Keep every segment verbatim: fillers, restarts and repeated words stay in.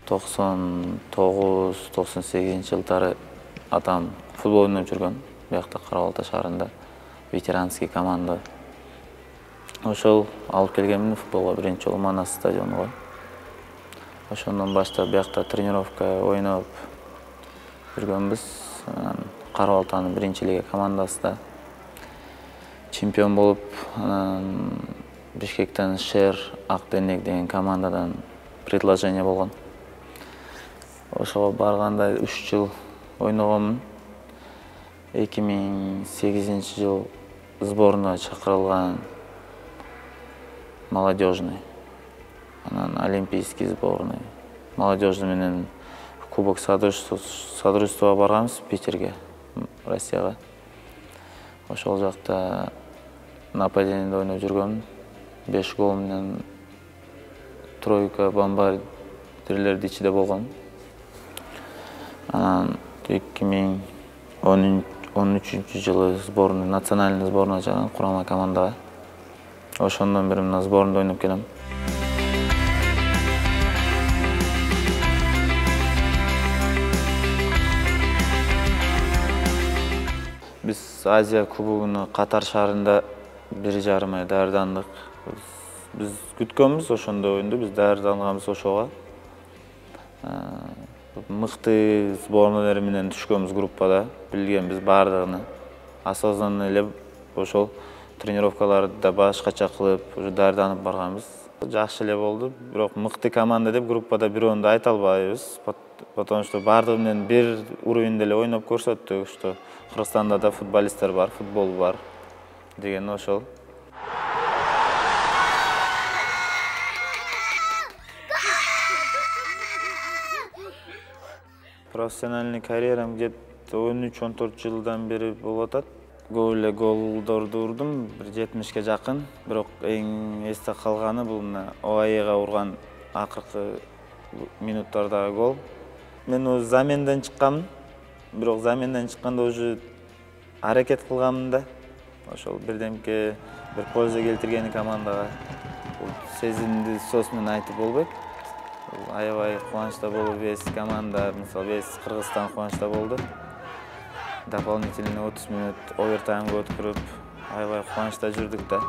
токсон тогуз токсон сегизинчи жылдары атам футбол ойноп жүргөн. Буякта Кара Балта шаарында ветеранский команда. Ошол алып келгенмин футболго биринчи жолу Манас стадионуга. Ошондон баштап буякта тренировка ойноп жүргөнбүз. Кара Балтанын биринчи лига командасында чемпион болуп, анан Бишкектен Шер Акденек деген командадан предложение болгон. Ошого барганда үч жыл ойногонмун. эки миң сегизинчи жыл сборная чакырылган, молодежный, анан олимпийский сборный, молодежный менен кубок содружествого барганбыз Питерге, Россияга. Ошол жакта нападениеде ойноп жүргөм. беш гол менен тройка бомбардирлерди ичиде болгон. Анан эки миң он үчүнчү жылы сборный, национальный сборная чакырган курама командага. Ошондон бери мына сборныйда ойноп келем. Биз Азия кубогуна Катар шаарында бир жарым ай даярдандык. Биз күткөнбүз ошондо оюнду, биз даярданганбыз ошого. Мыкты сборныйлар менен түшкөнбүз группада, билгенбиз баардыгын. Осознанно эле ошол тренировкаларды да башкача кылып, уже даярданып барганбыз. Жакшы эле болду, бирок мыкты команда деп группада бирөөнү да айта албайбыз, потому что баардыгы менен бир уровеньде эле ойноп көрсөттүк, что Кыргызстанда да футболисттер бар, футбол бар деген ошол. Профессиональный карьерам где-то он үч он төрт жылдан бери болуп атат. Көп эле голдорду урдум, бир жетимишке жакын. Бирок эң эсте калганы бул мына ОАЭга урган акыркы минуттардагы гол. Мен өзү заменден чыкканмын. Бирок заменден чыкканда уже аракет кылганмын да. Ошол бирдемке бир польза келтиргени командага. Бул сезимди сөз менен айтып болбойт. Аябай кубанычта болуп, вес команда, мисалы, вес Кыргызстан кубанычта болду. Дополнительный отуз минут овертаймга өткөрүп, аябай кубанычта жүрдүк да.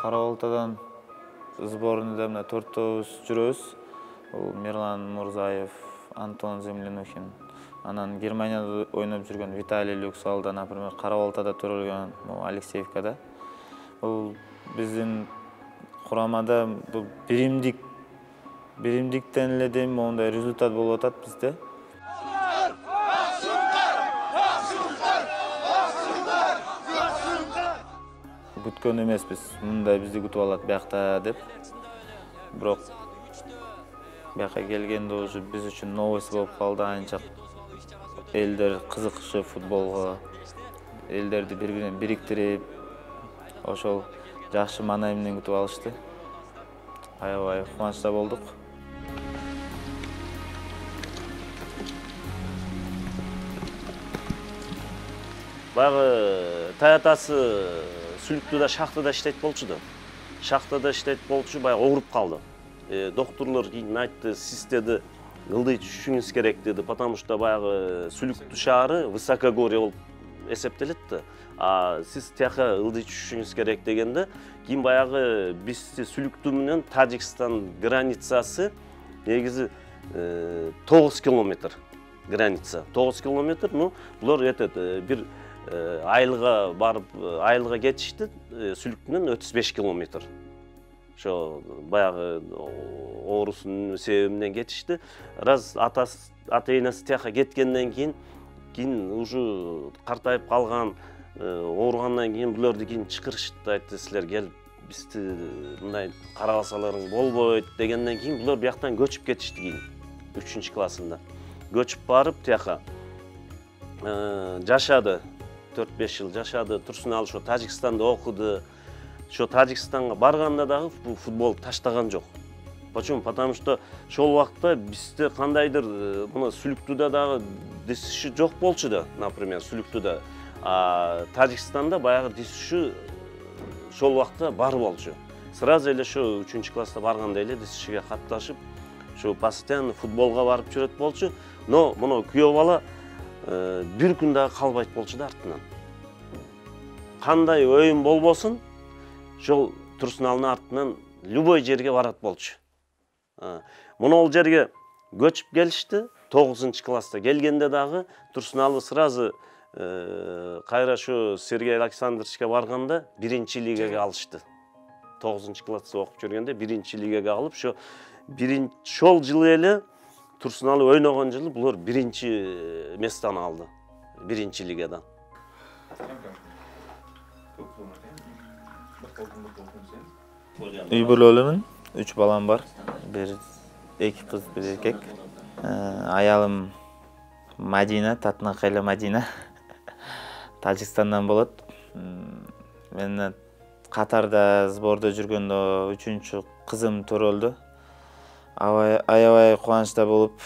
Кара Балтадан сборныйда мына төртөөбүз жүрөбүз. Бул Мирлан Мурзаев, Антон Землянухин. Анан Германияда ойноп жүргөн Виталий Люксалда, например, Кара Балтада төрөлгөн Алексеевкада. Бул биздин курамада бул биримдик биримдиктен эле дейм мондай результат болуп атат бизде. Күткөн эмеспиз, мындай бизди күтүп алат биякта деп. Бирок бияка келгенде уже биз үчүн новость болуп калды, анча элдер кызыкчы футболго, элдерди бири-бирине бириктирип, ошол жакшы маанай менен күтүп алышты. Аябай кубанычта болдук. Баягы таятасы Сүлүктүдө шахтада иштейт болчу да. Шахтада иштейт болчу, баягы ооруп калды. Доктурлар кийин айтты, сиз деди, ылдый түшүшүңүз керек деди, потому что баягы Сүлүктү шаары высокогорье болуп эсептелет да. А сиз тияка ылдый түшүшүңүз керек дегенде, кийин баягы бизди Сүлүктү менен Тажикстан границасы негизи тогуз километр граница. тогуз километр, ну, булар этет бир айылга барып, айылга кетишти, Сүлүктүнөн отуз беш километр. Ошо баягы оорусунун себебинен кетишти. Раз атасы, ата-энеси тияка кеткенден кийин, кийин уже картайып калган, ооругандан кийин буларды кийин чакырышты, айтты, силер келип бизди мындай карабасаларың болбойт дегенден кийин булар бияктан көчүп кетишти кийин үчүнчү классында. Көчүп барып тияка жашады, төрт беш жыл жашады. Турсуналы ошо Тажикстанда окуду. Ошо Тажикстанга барганда дагы футбол таштаган жок. Почему? Потому что ошол убакта бизде кандайдыр мына Сүлүктүдө дагы дисиши жок болчу да, например, Сүлүктүдө. А Тажикстанда баягы дисиши ошол убакта бар болчу. сразу эле ушу үчүнчү класста барганда эле ДСШге катташып, ушу постоянно футболго барып жүрөт болчу. Но мына күйөө бала бир күн дагы калбайт болчу да артынан. Кандай оюн болбосун, ошол Турсуналдын артынан любой жерге барат болчу. Мына ол жерге көчүп келишти. тогузунчу класста келгенде дагы Турсуналы сразу кайра ушу Сергей Александровичке барганда биринчи лигаga алышты. тогузунчу класста окуп жүргөндө биринчи лигаga алып, ошо биринчи ошол жылы эле Турсуналы ойногон жылы булар биринчи местаны алды. Биринчи лигадан. Үй бүлөлүмүн, үч балам бар. Бир эки кыз, бир эркек. Аялым Мадина, Татнакайлы Мадина. Тажикстандан болот. Мен Катарда сбордо жүргөндө үчүнчү кызым төрөлдү. Аябай кубанычта болуп,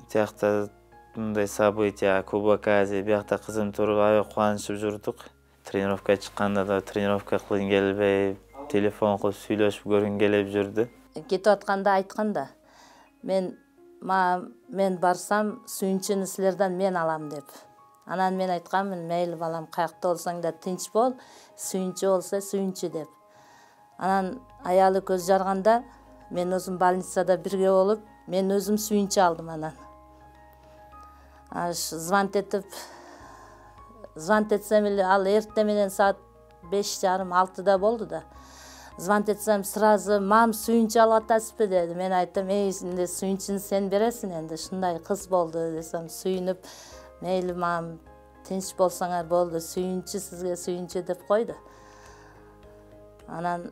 тиякта мындай события, Кубок Азии, биякта кызым төрөлүп аябай кубанычып жүрдүк. Тренировкага чыкканда да тренировка кылгың келбей, телефон кылып сүйлөшүп көргүң келип жүрдү. Кетип атканда айтканда, мен мен барсам сүйүнчүнү силерден мен алам деп. Анан мен айтканмын, мейли балам, каякта болсоң да тынч бол, сүйүнчү болсо сүйүнчү деп. Анан аялы көз жарганда, мен өзүм больницада бирге болуп, мен өзүм сүйүнчү алдым анан. Аш звонт этип, звонт этсем эле ал эрте менен саат беш жарым алтыда болду да. Звонт этсем сразу мам сүйүнчү алып атасызбы деди. Мен айттым, эй, энди сүйүнчүнү сен бересиң энди, ушундай кыз болду десем, сүйүнүп, мейли мам, тынч болсоңор болду, сүйүнчү сизге сүйүнчү деп койду. Анан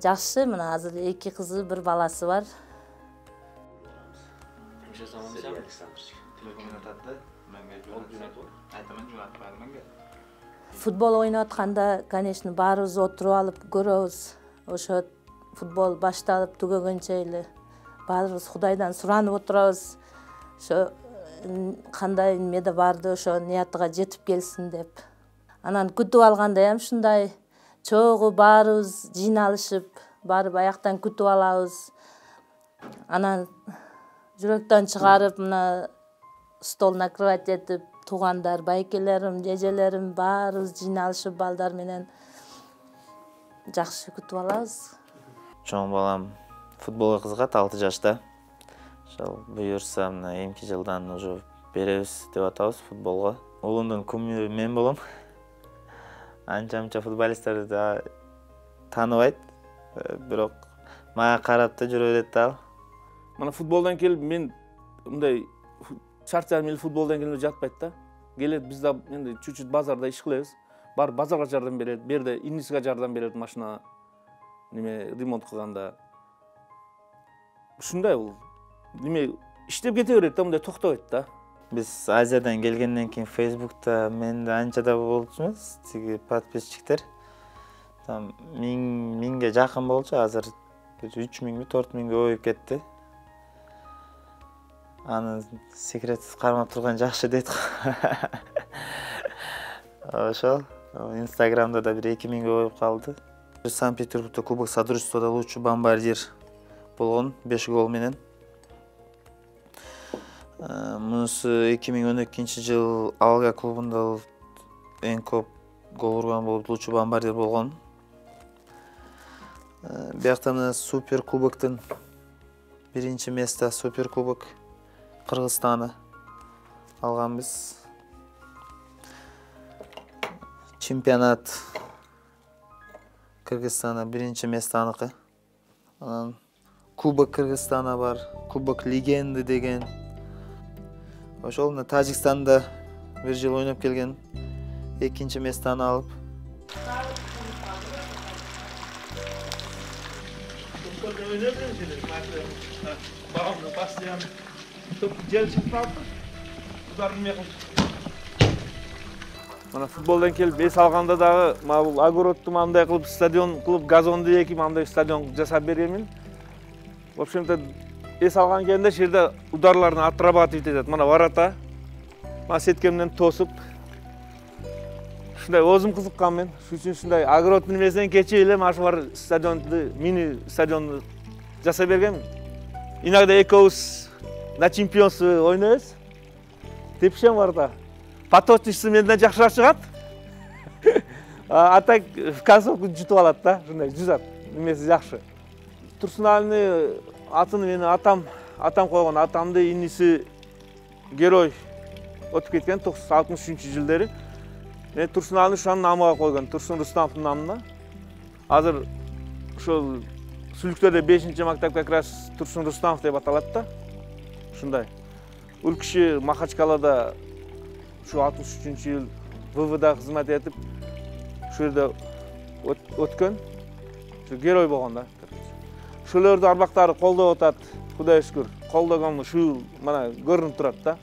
жакшы, мына азыр эки кызы, бир баласы бар. Футбол ойноп атканда, конечно, баарыбыз отуруп алып көрөбүз. Ошо футбол башталып түгөгөнчө эле баарыбыз Кудайдан суранып отурабыз. Ошо кандай эмеде барды, ошо ниятыга жетип келсин деп. Анан күтүп алганда ham ушундай чогуу баарыбыз жыйналышып, барып аяктан күтүп алабыз. Анан жүрөктөн чыгарып, мына стол накрывать этип, туугандар, байкелерим, жежелерим баарыбыз жыйналышып балдар менен жакшы күтүп алабыз. Чоң балам футболго кызыгат, алты жашта. Ошол буюрса, мына эмки жылдан уже беребиз деп атабыз футболго. Улумдун кумиру мен болом. Анча-мынча футболисттерди да тааныбайт, бирок мага карап да жүрө берет да. Мына футболдон келип мен мындай чарчарым эле футболдон келип жатпайт да. Келет, биз да энди чуть-чуть базарда иш кылабыз. Бар базарга жардам берет, берде инисиге жардам берет машина неме ремонт кылганда. Ушундай бул. Неме иштеп кете берет да, мындай токтобойт да. Биз Азиядан келгенден кийин Facebook'та менде анча да болчу эмес, тиги подписчиктер. Там миң миңге жакын болчу, азыр үч миңби, төрт миңге өйүп кетти. Аны секретсиз кармап турган жакшы дейт. Ошол Инстаграмда да бир эки миңге өйүп калды. Санкт-Петербургда Кубок Содружествода лучший бомбардир болгон, беш гол менен. Мунусу эки миң он экинчи жыл Алга клубунда эң көп гол урган болуп, лучший бомбардир болгон. Биякта мына Супер Кубоктун биринчи место, Супер Кубок Кыргызстаны алганбыз. Чемпионат Кыргызстана биринчи место аныкы. Анан Кубок Кыргызстана бар, Кубок Легенды деген. Ошол мына Тажикстанда бир жыл ойноп келген, экинчи местаны алып. Мына футболдон келип эс алганда дагы бул огородду мындай кылып стадион кылып, газонду экип, мындай стадион жасап бергенмин. В общем-то, эс алган кезде ошол жерде ударларын отрабатывать этет. Мына ворота, мына сеткемден тосуп, ушундай оозум кызыккан мен. Ушул үчүн ушундай огороддун немесинен кечип эле ошо бар стадионду, мини стадионду жасай бергенмин. Иногда экөөбүз на чемпионство ойнойбуз. Тепишем бар да. Поточница менден жакшыраак чыгат. А так в концовку жутуп алат да, ушундай жүзат. Немеси жакшы. Турсуналыны атын менин атам, атам койгон. Атамды иниси герой өтүп кеткен алтымыш үчүнчү жылдары. Мен Турсуналыны ушунун намыга койгон, Турсун Рустамовдун намына. Азыр ошол Сүлүктөрдө бешинчи мактап как раз Турсун Рустамов деп аталат да. Ушундай. Ул киши Махачкалада ушу алтымыш үчүнчү жыл вэ вэ да кызмат этип, ушул жерде өткөн. Ушу герой болгон да. Ошолорду арбактары колдоп атат, Кудайга шүгүр. Колдогон ушул мына көрүнүп турат да.